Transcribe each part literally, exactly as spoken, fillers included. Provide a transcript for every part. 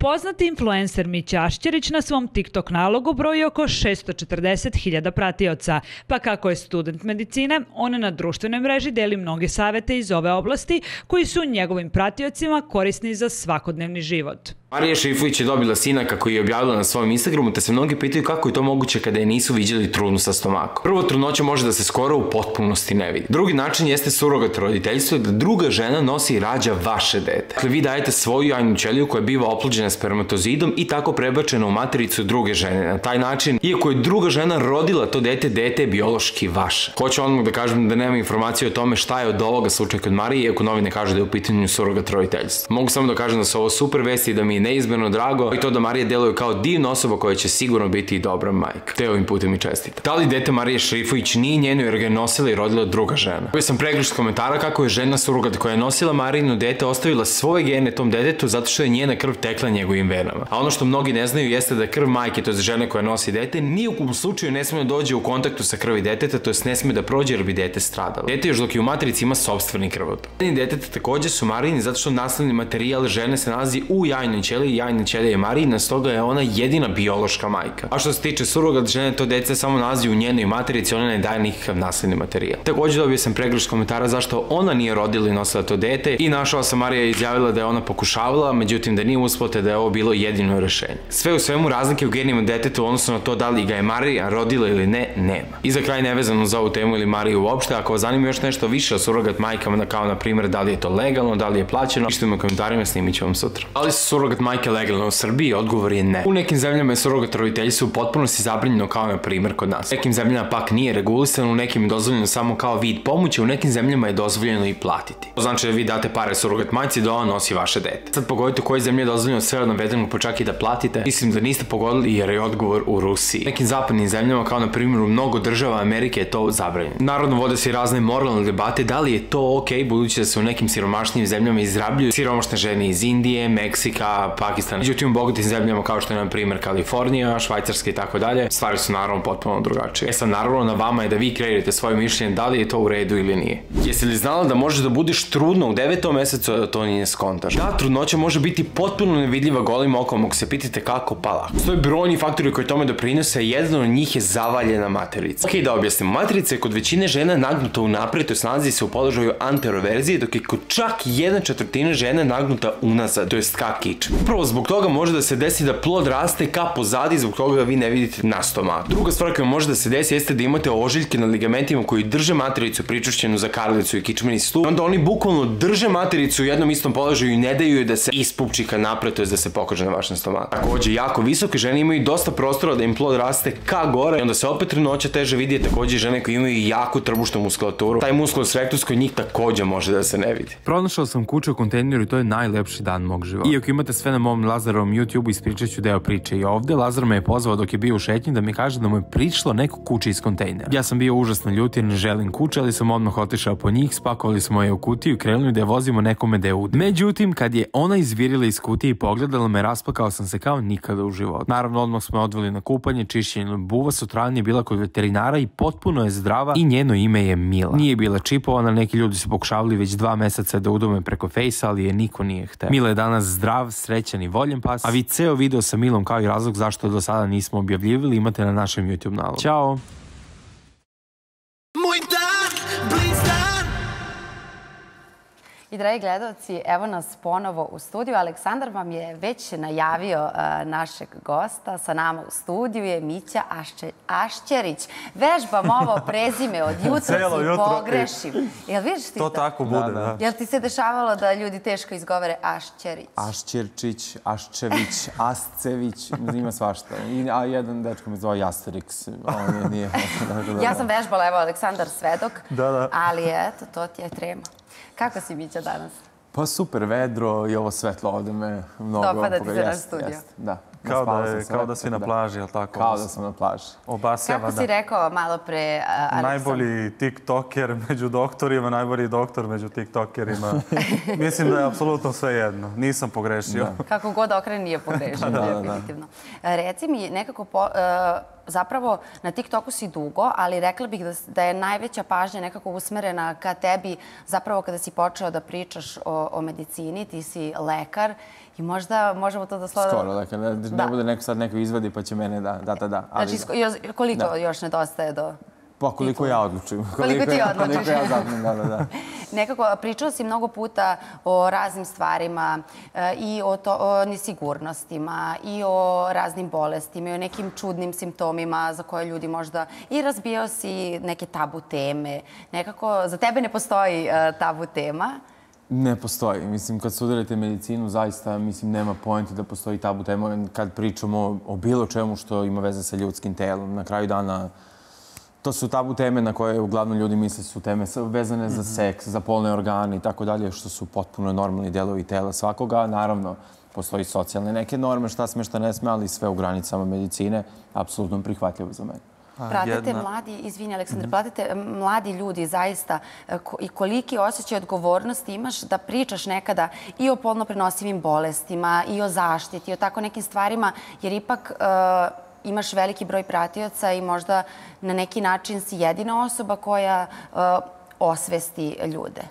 Poznati influencer Mića Ašćerić na svom TikTok nalogu broji oko šesto četrdeset hiljada pratioca, pa kako je student medicine, on na društvenoj mreži deli mnoge savete iz ove oblasti koji su njegovim pratiocima korisni za svakodnevni život. Marija Šerifović je dobila sina kako je objavila na svojom Instagramu, te se mnogi pitaju kako je to moguće kada je nisu viđali trudnu sa stomakom. Prvo, trudnoća može da se skoro u potpunosti ne vidi. Drugi način jeste surogat roditeljstvo, da druga žena nosi i rađa vaše dete. Dakle, vi dajete svoju jajnu ćeliju koja biva oplođena spermatozidom i tako prebačena u matericu druge žene. Na taj način, iako je druga žena rodila to dete, dete je biološki vaše. Hoću odmah da kažem da nema informacije o tome šta je od ovoga slučaja kod Marije, iako novine kažu da je u pitanju surogat roditeljstvo. Mogu samo da kažem da su ovo super vesti i da mi je neizmjerno drago i to da Marija deluje kao divna osoba koja će sigurno biti i dobra majka. Te ovim putem i čestita. Da li dete Marije Šerifović nije njeno jer ga je nosila i rodila druga žena? Bio sam pregršt komentara kako je žena surogat koja je nosila Marijino dete ostavila svoje gene tom detetu zato što je njena krv tekla njegovim venama. A ono što mnogi ne znaju jeste da krv majke, to je žene koja nosi dete, ni u kom slučaju ne sme da dođe u kontaktu sa krvi deteta, to jest ne sme da prođe jer bi dete stradalo. Dete još dok je u matrici ima sopstveni krvotok. Deteta takođe su Marijini zato što nasledni materijal žene se nalazi u jajnoj ćeliji i jajna ćelija je Marijina, stoga je ona jedina biološka majka. A što se tiče surogat žene, to dete samo nalazi u njenoj materici, ona ne daje nikakav nasledni materijal. Takođe dobio sam pregršt komentara zašto ona nije rodila i nosila to dete i našao sam Marija izjavila da je ona pokušavala, međutim da nije uspela te da je ovo bilo jedino rešenje. Sve u svemu razlike u genima deteta u odnosu na to da li ga je Marija rodila ili ne, nema. I za kraj nevezano za ovu temu ili Mariju uopšte, ako vas zanima još nešto više o surogat majkama, kao na primjer da li je to legalno, da li je plaćeno, pišite mi u komentarima, snimit ću vam sutra. Ali su surogat majke legalno u Srbiji? Odgovor je ne. U nekim zemljama je surogat roditeljstvo potpuno si zabranjeno kao na primjer kod nas. U nekim zemljama pak nije regulisano, u nekim je dozvoljeno samo kao vid pomoći, u nekim zemljama je dozvoljeno i platiti. To znači da vi date pare surogat majci da ona nosi vaše dete. Sad pogodite u kojoj zemlji je dozvoljeno sve od navedenog pa čak i da platite. Mislim da niste pogodili jer je odgovor u Rusiji. U nekim zapadnim zemljama kao na primjer u mnogo država Amerike je to zabranjeno. Naravno vode se i razne moralne debate da li je to ok, budući da se u nekim siromašnijim zemljama izrabljuju siromašne žene iz Indije, Meksika, Pakistana. Međutim, u bogatim zemljama kao što je na primjer Kalifornija, Švajcarska i tako dalje, stvari su naravno potpuno drugačije. E sad naravno na vama je da vi kreirate svoje mišljenje da li je to u redu ili nije. Jesi li znala da možeš da budeš trudna u devetom mesecu, a da to nije skontaš? Da, trudnoća može biti potpuno nevidljiva golim okom, ako se pitate kako, pa lako. Postoje brojni faktori koji tome doprinose, a jedan od njih je zavaljena materica. Ok, da objasnim, materica je kod većine žena nagnuta unapred, to jest nalazi se u položaju anteroverzije, dok je kod čak jedna četvrtina žena nagnuta unazad, to jest ka kičmi. Upravo zbog toga može da se desi da plod raste ka pozadi, zbog toga vi ne vidite na stomaku. Druga stvar koja može da se desi jeste da imate ožiljke na ligamentima koji drže matericu pričušćenu za karlicu i kičmeni stup. Onda oni bukvalno drže matericu u jednom istom položaju i ne daju je da se ispupči ka napred, to jest da se pokaže na vašem stomaku. Takođe, jako visoke žene imaju dosta prostora da im plod raste ka gore i onda se opet trudnoća teže vidi. Takođe, žene koje imaju jako trbušnu muskulaturu, taj musculus rectus kod njih takođe može da se ne vidi. Pronašao sam kuću u kontejneru i to je najlepši dan mog života. Iako imate sve na mom Lazarovom YouTube, ispričat ću deo priče i ovde. Lazar me je pozvao dok je bio u šetnji da mi kaže da mu je prišlo neko kuće iz kontejnera. Ja sam bio užasno ljut jer ne želim kuće, ali sam odmah otišao po njih, spakovali smo je u kutiju i krenuli da je vozimo nekome da je ude. Međutim, kad je ona izvirila iz kutije i pogledala me, rasplakao sam se kao nikada u životu. Naravno, odmah smo odveli na kupanje, čišćenje buva, sutradan je bila kod veterinara i potpuno je zdrava i njeno ime je Mila. Nije bila čipovana, neki ljudi su pokušavali već dva meseca da udome preko fejsa, ali je niko nije hteo. Mila je danas zdrav, srećan i voljen pas, a vi ceo video sa Milom kao i razlog zašto do sada nismo objavljivali imate na našem YouTube nalogu. Ćao! I dragi gledalci, evo nas ponovo u studiju. Aleksandar vam je već najavio našeg gosta. Sa nama u studiju je Mića Ašćerić. Vežbam ovo prezime od jutra i pogrešim. Jel vidiš ti to? To tako bude, da. Jel ti se dešavalo da ljudi teško izgovore Ašćerić? Ašćerčić, Aščević, Ascević, ima svašta. A jedan dečko me zove Jasteriks. Ja sam vežbala, evo, Aleksandar svedok. Ali eto, to ti je trema. Kako si, Mića, danas? Pa super, vedro i ovo svetlo ovde me mnogo... Dopada ti se na studiju? Da. Kao da, naspavao sam je, se kao lepo, da si tako na da- plaži, jel tako? Kao da sam na plaži. Obasjava, Kako da. si rekao malo pre, a, Aleksandar? Najbolji tiktoker među doktorima, najbolji doktor među tiktokerima. Mislim da je apsolutno sve jedno. Nisam pogrešio. Kako god okren nije pogrešio, definitivno. Reci mi, nekako, po, e, zapravo na TikToku si dugo, ali rekla bih da, da je najveća pažnja nekako usmerena ka tebi zapravo kada si počeo da pričaš o, o medicini, ti si lekar i možda možemo to da slova... Skoro, dakle, ne, ne Da. bude neko sad neko izvadi pa će mene da, da, da, da. Ali, Znači, sko- još- koliko Da. još nedostaje do... pa koliko ja odlučim. Koliko ti ja- odlučiš. Koliko ja zapnem, da, da, da. Nekako, pričao si mnogo puta o raznim stvarima e, i o, to, o nesigurnostima i o raznim bolestima i o nekim čudnim simptomima za koje ljudi možda... I razbijao si neke tabu teme. Nekako, za tebe ne postoji e, tabu tema. Ne postoji. Mislim, kad studirate medicinu, zaista, mislim, nema poenta da postoji tabu tema kad pričamo o bilo čemu što ima veze sa ljudskim telom. Na kraju dana, to su tabu teme na koje uglavnom ljudi misle su teme vezane za seks, za polne organe i tako dalje, što su potpuno normalni delovi tela svakoga. Naravno, postoji socijalne neke norme, šta sme, šta ne sme, ali sve u granicama medicine, apsolutno prihvatljivo za mene. Pratite jedna- mladi, izvini Aleksandar, pratite mladi ljudi zaista e, ko- i koliki osjećaj odgovornosti imaš da pričaš nekada i o polno prenosivim bolestima i o zaštiti, i o tako nekim stvarima, jer ipak e, imaš veliki broj pratioca i možda na neki način si jedina osoba koja e, osvesti ljude.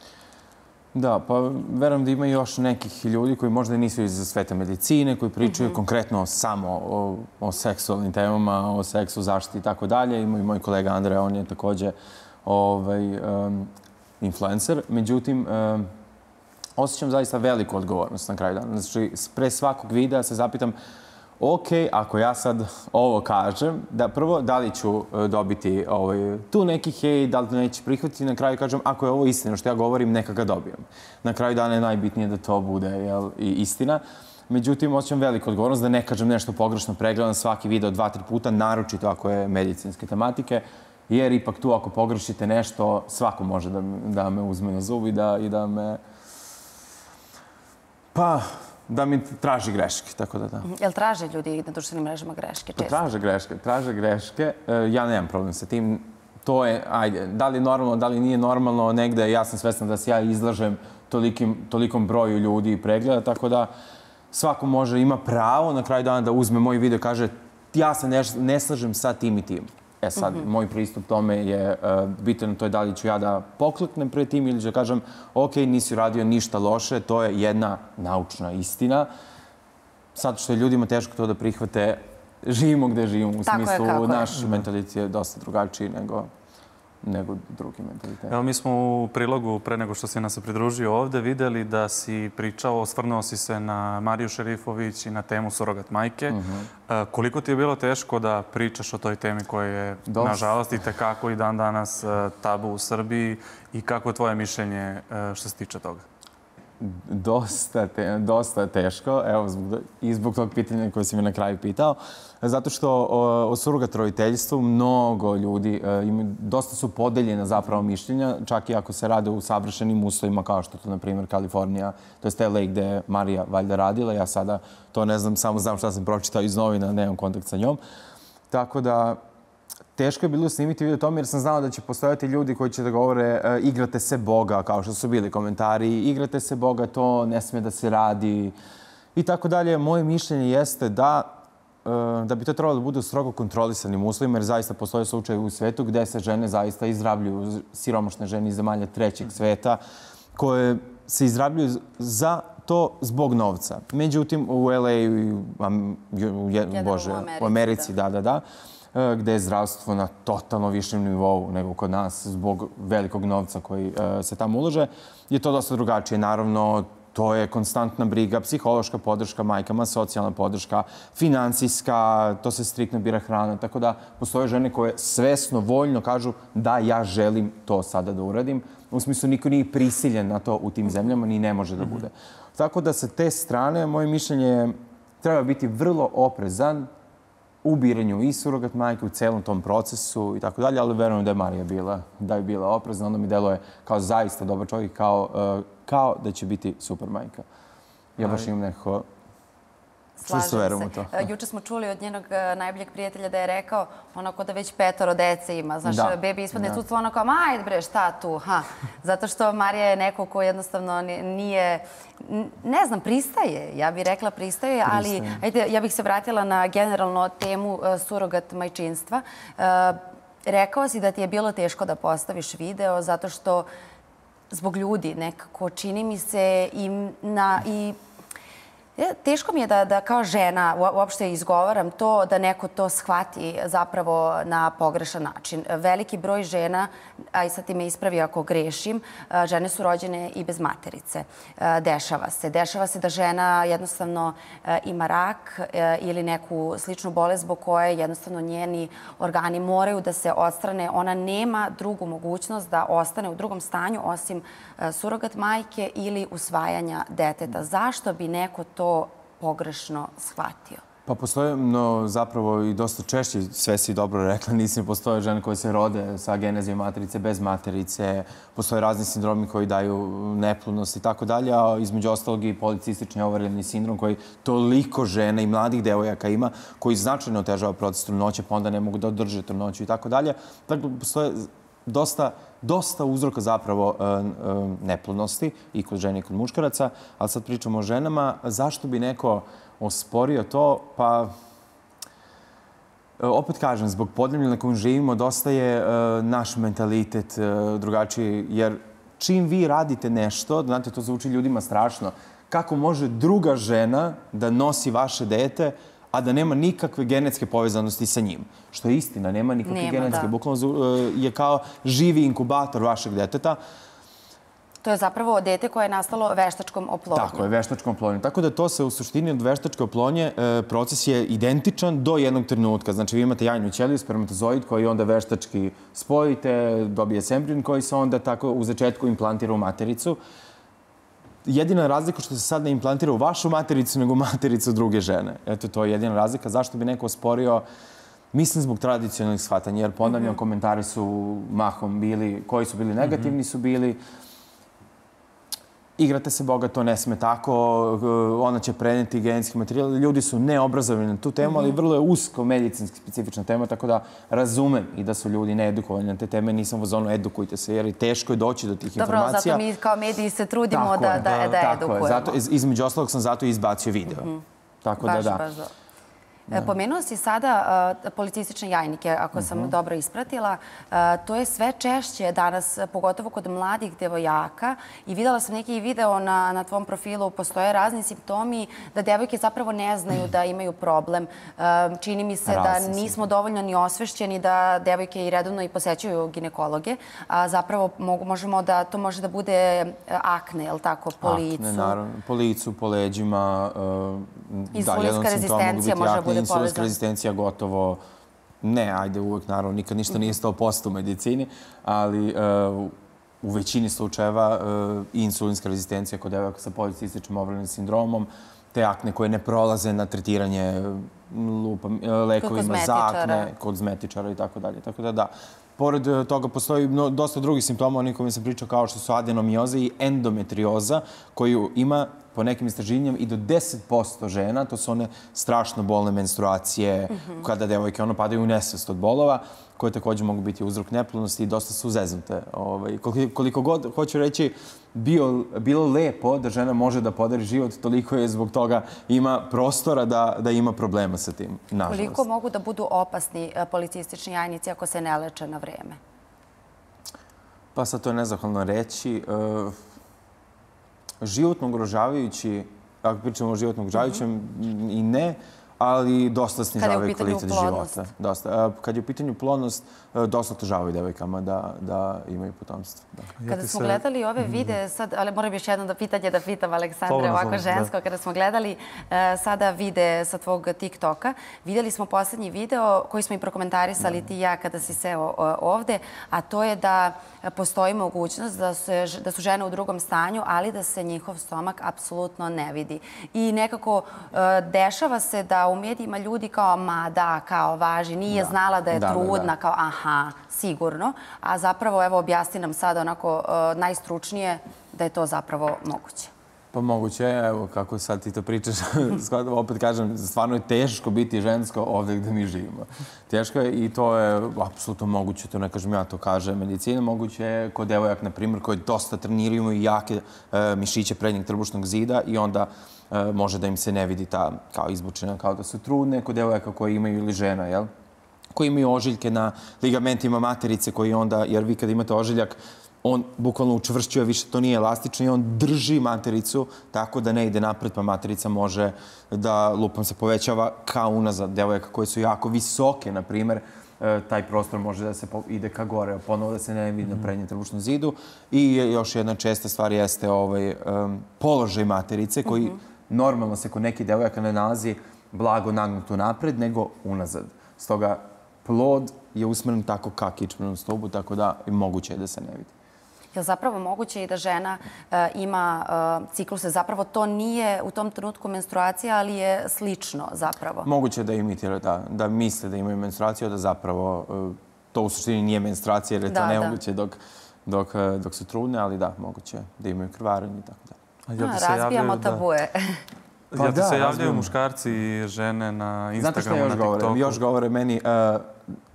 Da, pa verujem da ima još nekih ljudi koji možda nisu iz sveta medicine, koji pričaju konkretno samo o, o seksualnim temama, o seksu, zaštiti i tako dalje. Ima i moj kolega Andrej, on je takođe ovaj, um, influencer. Međutim, um, osjećam zaista veliku odgovornost na kraju dana. Znači, pre svakog videa se zapitam, ok, ako ja sad ovo kažem, da prvo, da li ću e, dobiti ovaj, tu neki hejt, da li to neće prihvatiti, na kraju kažem, ako je ovo istina što ja govorim, neka ga dobijem. Na kraju dana je najbitnije da to bude, jel, i istina. Međutim, osjećam veliku odgovornost da ne kažem nešto pogrešno, pregledam svaki video dva, tri puta, naročito ako je medicinske tematike, jer ipak tu ako pogrešite nešto, svako može da, da me uzme na zub i da, i da me... Pa, da mi traži greške, tako da da. Jel traže ljudi na društvenim mrežama greške Pa često? traže greške, traže greške. E, ja nemam problem sa tim. To je, ajde, da li je normalno, da li nije normalno, negde ja sam svestan da se ja izlažem tolikim, tolikom broju ljudi i pregleda, tako da svako može, ima pravo na kraju dana da uzme moj video i kaže ja se ne, ne slažem sa tim i tim. E sad, moj pristup tome je uh, bitan, to je da li ću ja da pokleknem pred tim ili ću da kažem ok, nisi radio ništa loše, to je jedna naučna istina. Sad što je ljudima teško to da prihvate, živimo gde živimo, u Tako je, smislu kako je. naš mentalitet je dosta drugačiji nego, nego drugi mentalitet. Evo, mi smo u prilogu, pre nego što si nas se pridružio ovde, videli da si pričao, osvrnuo si se na Mariju Šerifović i na temu surogat majke. E, koliko ti je bilo teško da pričaš o toj temi koja je, Dosta. nažalost, i tekako i dan danas e, tabu u Srbiji i kako je tvoje mišljenje e, što se tiče toga? Dosta, te, dosta teško, evo, zbog, i zbog tog pitanja koje si me na kraju pitao. Zato što o, o surogat roditeljstvu mnogo ljudi, e, ima, dosta su podeljena zapravo mišljenja, čak i ako se rade u savršenim uslovima kao što to, na primjer, Kalifornija, to je L A gde je Marija valjda radila. Ja sada to ne znam, samo znam šta sam pročitao iz novina, nemam kontakt sa njom. Tako da, teško je bilo snimiti video o tome jer sam znao da će postojati ljudi koji će da govore e, igrate se Boga, kao što su bili komentari, igrate se Boga, to ne sme da se radi i tako dalje. Moje mišljenje jeste da, e, da bi to trebalo da bude u strogo kontrolisanim uslovima jer zaista postoje slučaje u svetu gde se žene zaista izrabljuju, siromašne žene iz zemalja trećeg sveta, koje se izrabljuju za to zbog novca. Međutim, u L A i u, u, u, Bože, u Americi, u Americi, da, da, da, gde je zdravstvo na totalno višem nivou nego kod nas zbog velikog novca koji uh, se tamo ulaže, je to dosta drugačije. Naravno, to je konstantna briga, psihološka podrška majkama, socijalna podrška, finansijska, to se striktno bira hrana. Tako da postoje žene koje svesno, voljno kažu da ja želim to sada da uradim. U smislu, niko nije prisiljen na to u tim zemljama, ni ne može da bude. Tako da sa te strane, moje mišljenje je treba biti vrlo oprezan u biranju i surogat majke, u celom tom procesu i tako dalje, ali verujem da je Marija bila, da je bila oprezna. Onda mi deluje kao zaista dobar čovjek, kao, uh, kao da će biti super majka. Ja baš imam neko Čvrsto verujem u to. Juče smo čuli od njenog najboljeg prijatelja da je rekao onako da već petoro dece ima. Znaš, Da. bebi ispadne Da. tu, ono kao, ma ajde bre, šta tu, ha. Zato što Marija je neko ko jednostavno ni- nije, n- ne znam, pristaje. Ja bih rekla pristaje, ali Pristaje. ajde, ja bih se vratila na generalno temu e, surogat majčinstva. E, Rekao si da ti je bilo teško da postaviš video zato što zbog ljudi nekako čini mi se i na i E, Teško mi je da, da kao žena u- uopšte izgovaram to, da neko to shvati zapravo na pogrešan način. Veliki broj žena, a i sad ti me ispravi ako grešim, a, žene su rođene i bez materice. A, Dešava se. Dešava se da žena jednostavno a, ima rak a, ili neku sličnu bolest zbog koje jednostavno njeni organi moraju da se odstrane. Ona nema drugu mogućnost da ostane u drugom stanju osim a, surogat majke ili usvajanja deteta. Zašto bi neko to pogrešno shvatio? Pa postoje no, zapravo i dosta češće, sve si dobro rekla, nisam postoje žene koje se rode sa genezijom materice, bez materice, postoje razni sindromi koji daju neplodnost i tako dalje, a između ostalog i policistični ovarijalni sindrom koji toliko žena i mladih devojaka ima, koji značajno otežava proces trudnoće, pa onda ne mogu da održe trudnoću i tako dalje. Dakle, postoje dosta, dosta uzroka zapravo e, e, neplodnosti i kod žene i kod muškaraca, ali sad pričamo o ženama. Zašto bi neko osporio to? Pa, e, opet kažem, zbog podneblja na kojem živimo, dosta je e, naš mentalitet e, drugačiji, jer čim vi radite nešto, znate, to zvuči ljudima strašno, kako može druga žena da nosi vaše dete, a da nema nikakve genetske povezanosti sa njim. Što je istina, nema nikakve Nema, genetske. da. Bukvalno e, je kao živi inkubator vašeg deteta. To je zapravo dete koje je nastalo veštačkom oplodnjom. Tako je, veštačkom oplodnjom. Tako da to se u suštini od veštačke oplodnje e, proces je identičan do jednog trenutka. Znači vi imate jajnu ćeliju, spermatozoid koji onda veštački spojite, dobije se embrion koji se onda tako u začetku implantira u matericu. Jedina razlika što se sad ne implantira u vašu matericu, nego u matericu druge žene. Eto, to je jedina razlika. Zašto bi neko osporio? Mislim zbog tradicionalnih shvatanja, jer ponavljam, komentari su mahom bili, koji su bili negativni su bili. Igrate se Boga, to ne sme tako, ona će preneti genetski materijal. Ljudi su neobrazovani na tu temu, ali vrlo je usko medicinski specifična tema, tako da razumem i da su ljudi needukovani na te teme. Nisam u zonu edukujte se, jer je teško je doći do tih Dobro, informacija. zato mi kao mediji se trudimo Tako da, je, da, da tako edukujemo. je. Zato, iz- između ostalog sam zato i izbacio video. Tako da Baš, da. baš da. E, Pomenuo si sada uh, policistične jajnike, ako sam dobro ispratila. Uh, to je sve češće danas, pogotovo kod mladih devojaka. I videla sam neki video na, na tvom profilu, postoje razni simptomi da devojke zapravo ne znaju da imaju problem. Uh, čini mi se Razni da nismo dovoljno ni osvešćeni da devojke i redovno i posećuju ginekologe. A zapravo mogu, možemo da to može da bude uh, akne, je li tako, po licu. Akne, naravno. Po licu, po leđima. Uh, Insulinska rezistencija može da bude Insulinska povezana. rezistencija gotovo... Ne, ajde uvek, naravno, nikad ništa nije sto posto u medicini, ali uh, u većini slučajeva uh, i insulinska rezistencija kod devojaka sa policističnim ovarijalnim sindromom, te akne koje ne prolaze na tretiranje lupa, lekovima za akne, kod kozmetičara i tako dalje. Tako da da. Pored eh, toga postoji mno- dosta drugih simptoma, oni kojima sam pričao, kao što su adenomioza i endometrioza, koju ima po nekim istraživanjima i do deset posto žena. To su one strašno bolne menstruacije, kada devojke ono padaju u nesvest od bolova, koje također mogu biti uzrok neplodnosti i dosta su zeznute. Ovaj, koliko, koliko god, hoću reći, bio, bilo lepo da žena može da podari život, toliko je zbog toga ima prostora da, da ima problema sa tim, nažalost. Koliko mogu da budu opasni e, policistični jajnici ako se ne leče na vreme? Pa sad to je nezahvalno reći. E, životno ugrožavajući, ako pričamo o životno ugrožavajućem, i ne, ali dosta snižavaju kvalitet života. Dosta. A kad je u pitanju plodnost, e, dosta otežavaju devojkama da, da imaju potomstvo. Da. Kada smo gledali ove videe, sad, ali moram još jedno da pitanje da pitam Aleksandra, Slobodno, ovako slobodno, da. žensko, kada smo gledali e, sada videe sa tvog TikToka, vidjeli smo posljednji video koji smo i prokomentarisali ti i ja kada si seo o, ovde, a to je da postoji mogućnost da, se, da su žene u drugom stanju, ali da se njihov stomak apsolutno ne vidi. I nekako e, dešava se da u medijima ljudi kao, ma da, kao važi, nije Da. znala da je Da, da, da. trudna, kao aha, sigurno. A zapravo, evo, objasni nam sada onako e, najstručnije da je to zapravo moguće. Pa moguće, evo, kako sad ti to pričaš, opet kažem, stvarno je teško biti žensko ovdje gdje mi živimo. Teško je i to je apsolutno moguće, to ne kažem ja, to kaže medicina, moguće je kod devojak, na primjer, koji dosta treniraju, imaju jake e, mišiće prednjeg trbušnog zida i onda e, može da im se ne vidi ta kao izbučena, kao da su trudne, kod devojaka koji imaju ili žena, jel? Koji imaju ožiljke na ligamentima materice, koji onda, jer vi kad imate ožiljak, on bukvalno učvršćuje više, to nije elastično i on drži matericu tako da ne ide napred, pa materica može da, lupom se povećava kao unazad. Devojaka koje su jako visoke, na primjer, taj prostor može da se ide ka gore, ponovo da se ne vidi na prednjem trbušnom zidu. I još jedna česta stvar jeste ovaj, um, položaj materice koji normalno se kod nekih devojaka ne nalazi blago nagnuto napred, nego unazad. Stoga plod je usmeren tako ka kičmenom stubu, tako da je moguće da se ne vidi. Je li zapravo moguće i da žena uh, ima uh, cikluse? Zapravo to nije u tom trenutku menstruacija, ali je slično zapravo. Moguće da imitira, da, da misle da imaju menstruaciju, da zapravo uh, to u suštini nije menstruacija, jer je to da, nemoguće dok, dok, uh, dok su trudne, ali da, moguće da imaju krvarenje i tako da. A, razbijamo tabuje. Pa Jel ti se javljaju muškarci i žene na Instagramu, znate što još na TikToku? Govore? Još govore meni, uh,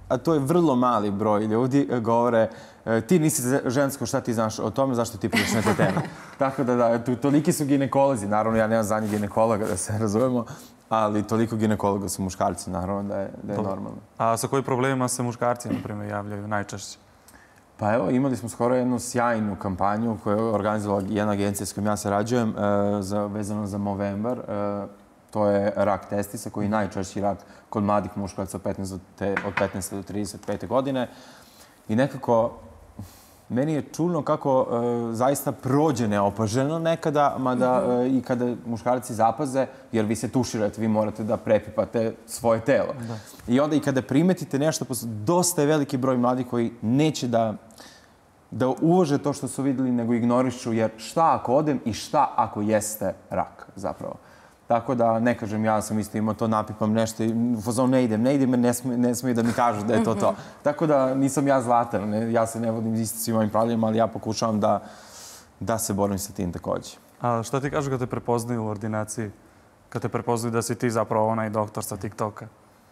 a to je vrlo mali broj ljudi, govore ti nisi žensko, šta ti znaš o tome, zašto ti pričaš na te teme. Tako da, da, tu, toliki su ginekolozi, naravno ja nemam za njih ginekologa, da se razumemo, ali toliko ginekologa su muškarci, naravno da je, da je normalno. A sa kojim problemima se muškarci, na primjer, javljaju najčešće? Pa evo, imali smo skoro jednu sjajnu kampanju koju je organizovala jedna agencija s kojom ja sarađujem, e, za, vezano za Movember. E, to je rak testisa, koji je najčešći rak kod mladih muškaraca od petnaeste do trideset pete godine. I nekako, meni je čudno kako e, zaista prođe neopaženo nekada, mada e, i kada muškarci zapaze, jer vi se tuširate, vi morate da prepipate svoje telo. Da. I onda i kada primetite nešto, dosta je veliki broj mladih koji neće da, da uvaže to što su vidjeli, nego ignorišu, jer šta ako odem i šta ako jeste rak zapravo. Tako da, ne kažem, ja sam isto imao to, napipam nešto i u fazonu ne idem, ne idem, ne smiju, ne smiju da mi kažu da je to to. Tako da nisam ja zlatan, ne, ja se ne vodim isto svim ovim pravilima, ali ja pokušavam da, da se borim sa tim također. A šta ti kažu kad te prepoznaju u ordinaciji? Kad te prepoznaju da si ti zapravo onaj doktor sa TikToka?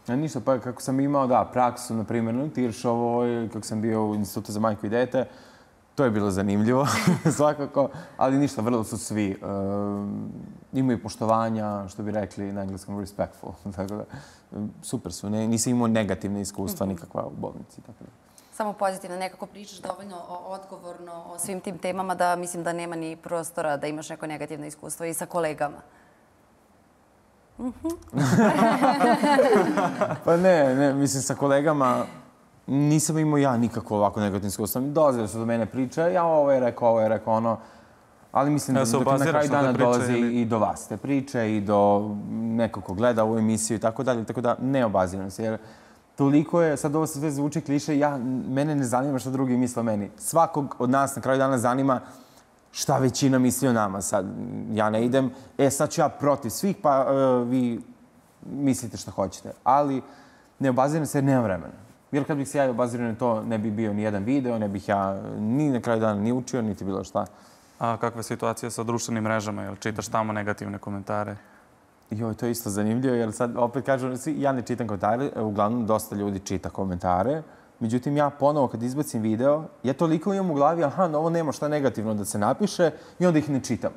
A ništa, pa kako sam imao, da, praksu, na primjer, u Tiršovoj, kako sam bio u Institutu za majku i dete, to je bilo zanimljivo, svakako, ali ništa, vrlo su svi. E, imaju poštovanja, što bi rekli na engleskom respectful. Tako da, super su, ne, nisam imao negativne iskustva nikakva u bolnici. Tako da. Samo pozitivno, nekako pričaš dovoljno odgovorno o svim tim temama da mislim da nema ni prostora da imaš neko negativno iskustvo i sa kolegama. Pa ne, ne, mislim sa kolegama nisam imao ja nikako ovako negativno iskustvo. Dolazili su do mene priče, ja ovo je rekao, ovo je rekao, ono, ali mislim da, da na kraju dana dolazi ili... i do vas te priče i do nekog ko gleda ovu emisiju i tako dalje, tako da ne obaziram se, jer toliko je, sad ovo sve zvuči kliše, ja, mene ne zanima što drugi misle o meni. Svakog od nas na kraju dana zanima šta većina misli o nama. Sad, ja ne idem, e, sad ću ja protiv svih, pa uh, vi mislite što hoćete. Ali ne obaziram se jer nemam vremena. Jer kad bih se ja obazirio na to, ne bi bio ni jedan video, ne bih ja ni na kraju dana ni učio, niti bilo šta. A kakva je situacija sa društvenim mrežama? Jel čitaš tamo negativne komentare? Joj, to je isto zanimljivo, jer sad opet kažem, ja ne čitam komentare, uglavnom dosta ljudi čita komentare. Međutim, ja ponovo kad izbacim video, ja toliko imam u glavi, aha, ovo nema šta negativno da se napiše i onda ih ne čitam.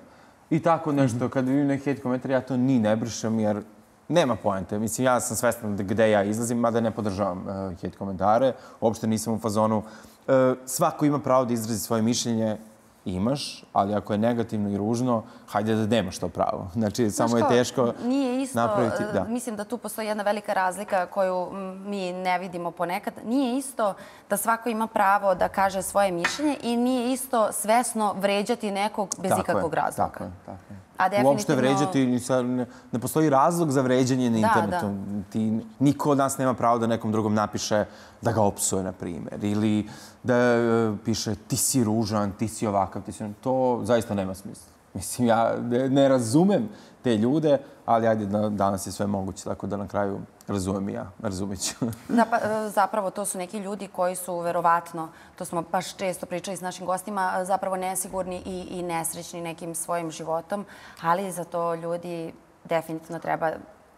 I tako nešto, kad vidim neki hejt komentar, ja to ni ne brišem jer nema poente. Mislim, ja sam svestan gde ja izlazim, mada ne podržavam uh, hejt komentare. Uopšte nisam u fazonu. Uh, svako ima pravo da izrazi svoje mišljenje, imaš, ali ako je negativno i ružno, hajde da nemaš to pravo. Znači, znaš samo je teško nije isto, napraviti. Da. Mislim da tu postoji jedna velika razlika koju mi ne vidimo ponekad. Nije isto da svako ima pravo da kaže svoje mišljenje i nije isto svesno vređati nekog bez tako ikakvog je, razloga. Tako je, tako je. A definitivno... Uopšte vređati, ne, ne postoji razlog za vređanje na internetu. Da, da. Ti, niko od nas nema pravo da nekom drugom napiše da ga opsuje, na primjer, ili da uh, piše ti si ružan, ti si ovakav, ti si... To zaista nema smisla. Mislim, ja ne razumem te ljude, ali ajde, danas je sve moguće, tako da na kraju razumem i ja, razumit ću. Da, pa, zapravo to su neki ljudi koji su verovatno, to smo baš često pričali s našim gostima, zapravo nesigurni i, i nesrećni nekim svojim životom, ali za to ljudi definitivno treba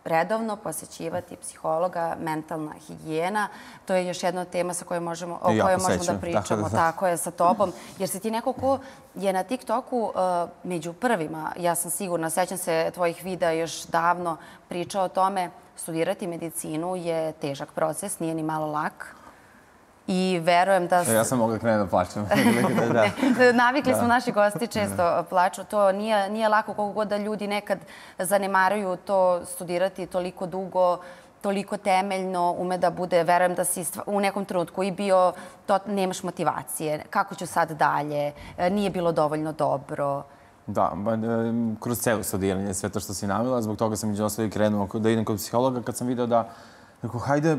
redovno posjećivati psihologa, mentalna higijena. To je još jedna tema sa kojoj možemo, o kojoj možemo da pričamo. Tako je, sa tobom. Jer si ti neko ko je na TikToku među prvima, ja sam sigurna, sećam se tvojih videa još davno, pričao o tome, studirati medicinu je težak proces, nije ni malo lak. I verujem da... Ja sam mogla krenuti da plačem. Navikli smo, naši gosti često plaču. To nije lako koliko god da ljudi nekad zanemaruju to studirati toliko dugo, toliko temeljno, ume da bude, verujem da si u nekom trenutku i bio, nemaš motivacije, kako ću sad dalje, nije bilo dovoljno dobro. Da, kroz celo studiranje, sve to što si navila, zbog toga sam među ostali krenuo da idem kod psihologa kad sam video da, rekao, hajde,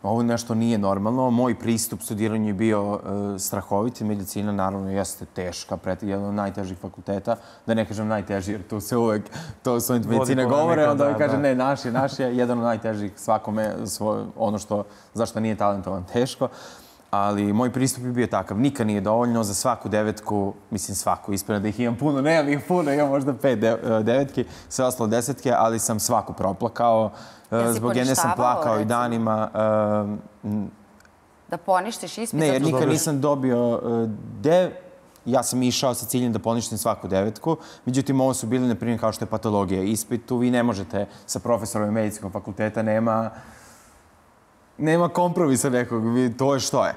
ovo nešto nije normalno. Moj pristup studiranju je bio strahovit. Medicina, naravno, jeste teška, jedan od najtežih fakulteta. Da ne kažem najteži, jer tu se uvek, to studenti medicine govore, onda uvek kaže ne, naš je, naš je, jedan od najtežih svakome, ono što, zašto nije talentovan, teško. Ali moj pristup je bio takav. Nikad nije dovoljno za svaku devetku, mislim svaku, ispravno da ih imam puno, nemam ih puno, imam možda pet devetki, sve ostalo desetke, ali sam svaku proplakao. Zbog jedne sam plakao i danima. Da poništiš ispit? Ne, jer nikad nisam dobio dev. Ja sam išao sa ciljem da poništim svaku devetku. Međutim, ovo su bili, na primjer, kao što je patologija. Ispit tu vi ne možete sa profesorom medicinskog fakulteta, nema... Nema kompromisa nekog, to je što je.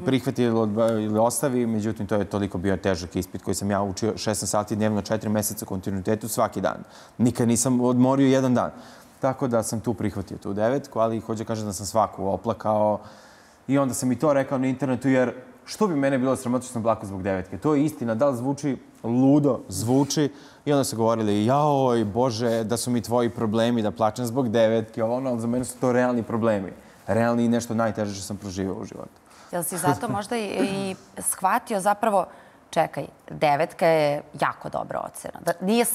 Prihvati ili ostavi, međutim, to je toliko bio težak ispit koji sam ja učio šesnaest sati dnevno, četiri meseca kontinuitetu svaki dan. Nikad nisam odmorio jedan dan. Tako da sam tu prihvatio tu devetku, ali hoće kažem da sam svaku oplakao. I onda sam i to rekao na internetu, jer što bi mene bilo sramota što sam plakao zbog devetke? To je istina, da li zvuči ludo, zvuči. I onda su govorili, jaoj, Bože, da su mi tvoji problemi, da plačem zbog devetke, ono, ali za mene su to realni problemi. Realni i nešto najteže što sam proživao u životu. Jel si zato možda i shvatio zapravo, čekaj, devetka je jako dobra ocena. Nije...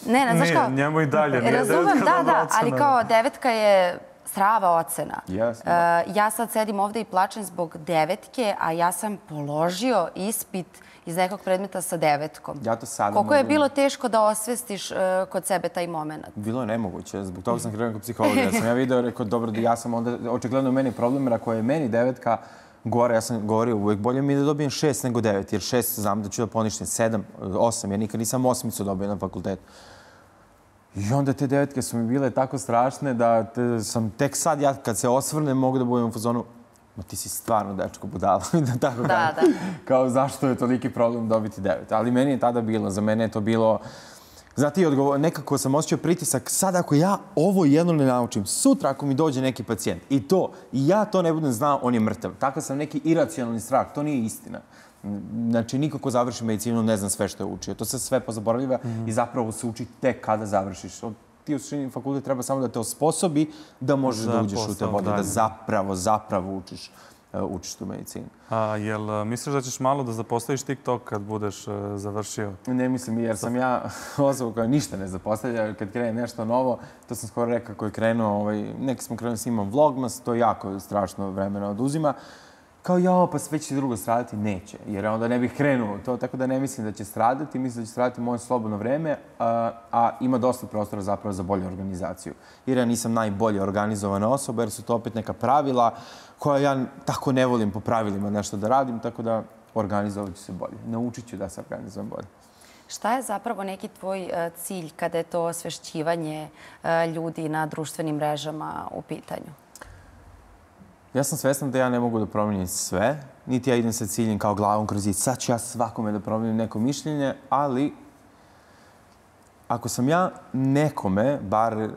Ne, znaš kao... Nije, njemu i dalje, nije devetka dobra ocena. Da, da, ali kao devetka je strava ocena. Ja sad sedim ovde i plačem zbog devetke, a ja sam položio ispit iz nekog predmeta sa devetkom. Ja to sada mogu... Koliko je bilo teško da osvestiš kod sebe taj moment? Bilo je nemoguće. Zbog toga sam krenuo kod psihologa. Ja sam ja video, rekao, dobro, ja sam onda... Očigledno meni problem, jer ako je meni devetka gore, ja sam govorio, uvijek bolje mi je da dobijem šest nego devet, jer šest znam da ću da poništim, sedam, osam. Ja nikad nisam osmicu dobio na fakultetu. I onda te devetke su mi bile tako strašne da sam tek sad, ja kad se osvrnem, mogu da budem u fazonu, ma ti si stvarno dečko budala. Da, tako da, da. Kao zašto je toliki problem dobiti devet. Ali meni je tada bilo, za mene je to bilo... Znate, nekako sam osjećao pritisak, sad ako ja ovo jedno ne naučim, sutra ako mi dođe neki pacijent i to, i ja to ne budem znao, on je mrtav. Takav sam neki iracionalni strah, to nije istina. Znači, niko ko završi medicinu ne zna sve što je učio. To se sve pozaboravljiva i zapravo se uči tek kada završiš. Ti u suštini fakultet treba samo da te osposobi da možeš da uđeš u te vode, da zapravo, zapravo učiš. učiš tu medicinu. A jel misliš da ćeš malo da zapostaviš TikTok kad budeš završio? Ne mislim, jer sam ja osoba koja ništa ne zapostavlja. Kad krene nešto novo, to sam skoro rekao koji je krenuo, neki smo krenuli snimam Vlogmas, to jako strašno vremena oduzima. Kao, jao, pa sve će drugo stradati? Neće, jer onda ne bih krenuo to, tako da ne mislim da će stradati, mislim da će stradati moje slobodno vreme, a ima dosta prostora zapravo za bolju organizaciju. Jer ja nisam najbolje organizovana osoba, jer su to opet neka pravila koja ja tako ne volim po pravilima nešto da radim, tako da organizovat ću se bolje. Naučit ću da se organizujem bolje. Šta je zapravo neki tvoj cilj kada je to osvešćivanje ljudi na društvenim mrežama u pitanju? Ja sam svestan da ja ne mogu da promijenim sve, niti ja idem sa ciljem kao glavom kroz zid. Sad ću ja svakome da promijenim neko mišljenje, ali ako sam ja nekome bar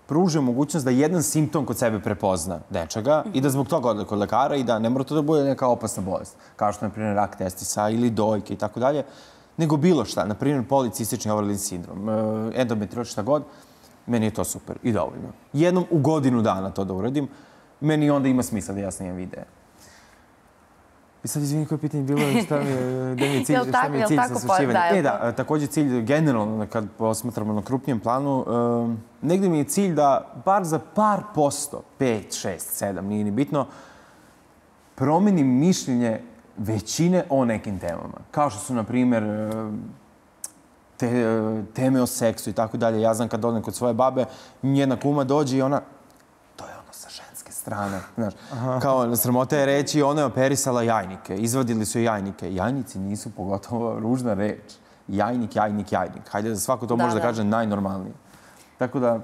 pružio mogućnost da jedan simptom kod sebe prepozna nečega i da zbog toga ode kod lekara i da ne mora to da bude neka opasna bolest, kao što je, na primjer, rak testisa ili dojke i tako dalje, nego bilo šta, na primjer, policistični ovarlin sindrom, endometrioz, šta god, meni je to super i dovoljno. Jednom u godinu dana to da uradim, meni onda ima smisla da ja snimam videe. I sad izvini koje pitanje bilo, šta mi je, gde mi je cilj, Jel šta tako- mi je jel cilj tako sa po- osvećivanjem? da, jel E da, to- takođe cilj generalno, kad posmatramo na krupnijem planu, um, negde mi je cilj da bar za par posto, pet, šest, sedam, nije ni bitno, promenim mišljenje većine o nekim temama. Kao što su, na primjer, te, teme o seksu i tako dalje. Ja znam kad odem kod svoje babe, njena kuma dođe i ona, to je ono sa ženske strane. Znaš, kao sramota je reći, ona je operisala jajnike, izvadili su jajnike. Jajnici nisu pogotovo ružna reč. Jajnik, jajnik, jajnik. Hajde da svako to Da, može da da. kaže najnormalnije. Tako da,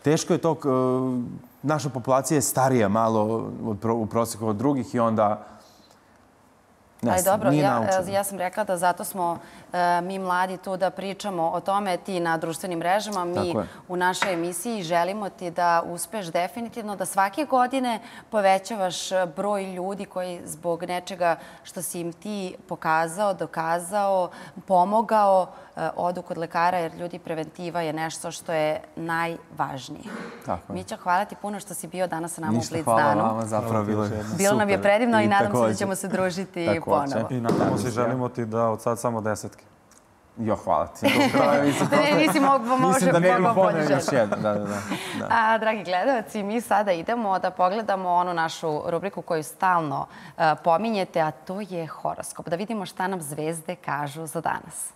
teško je to, k- naša populacija je starija malo od pro- u prosjeku od drugih i onda ne Ali znam, dobro, nije ja, naučeno. ja sam rekla da zato smo e, mi mladi tu da pričamo o tome, ti na društvenim mrežama, mi Tako je. u našoj emisiji želimo ti da uspeš definitivno, da svake godine povećavaš broj ljudi koji zbog nečega što si im ti pokazao, dokazao, pomogao, e, odu kod lekara, jer ljudi, preventiva je nešto što je najvažnije. Tako je. Mića, hvala ti puno što si bio danas sa nama u Ništa, Blitz hvala danu. vama, zapravo bilo je Bilo nam je super. predivno i nadam se da takođe. ćemo se družiti Takođe. ponovo. I nadamo se, želimo ti da od sad samo desetke. Jo, hvala ti. Mislim, Ne, nisi mogu, može, mislim da ne mogao bi bolje ponio još želiti. jedno. Da, da, da. da. A, dragi gledalci, mi sada idemo da pogledamo onu našu rubriku koju stalno uh, pominjete, a to je horoskop. Da vidimo šta nam zvezde kažu za danas.